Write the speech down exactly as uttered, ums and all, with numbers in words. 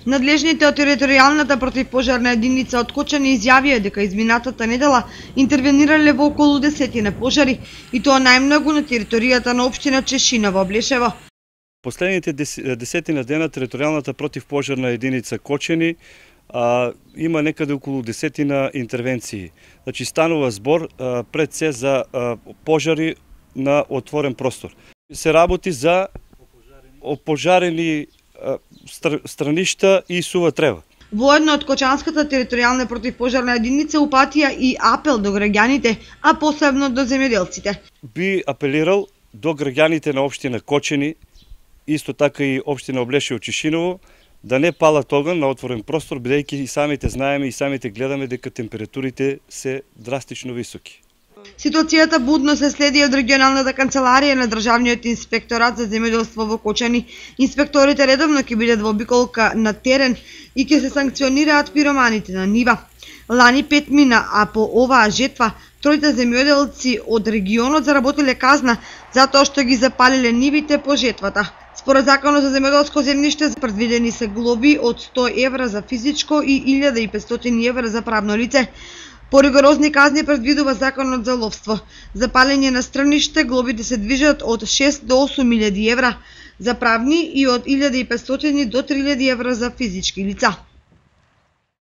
Надлежните од територијалната противпожарна единица од Кочани изјавија дека изминатата недела интервенирале во околу десетина пожари, и тоа најмногу на територијата на општина Чешина во Блешево. Последните десетина дена територијалната противпожарна единица Кочани а, има некаде околу десетина интервенции. Значи станува збор а, пред се за а, пожари на отворен простор. Се работи за опожарени страништа и сува трева. Воедно од Кочанската територијална противпожарна единица упатија и апел до граѓаните, а посебно до земјоделците. Би апелирал до граѓаните на општина Кочани, исто така и општина Облешево Чешиново, да не палат оган на отворен простор, бидејќи и самите знаеме и самите гледаме дека температурите се драстично високи. Ситуацијата будно се следи од регионалната канцеларија на Државниот инспекторат за земјоделство во Кочани. Инспекторите редовно ќе бидат во обиколка на терен и ќе се санкционираат пироманите на нива. Лани пет мина, а по оваа жетва тројта земјоделци од регионот заработиле казна затоа што ги запалиле нивите по жетвата. Според Законот за земјоделско земјиште предвидени се глоби од сто евра за физичко и илјада и петстотини евра за правно лице. Поригорозни казни предвидува Законот за ловство. За палење на страниште глобите се движат од шест до осум илјади евра за правни и од илјада и петстотини до три илјади евра за физички лица.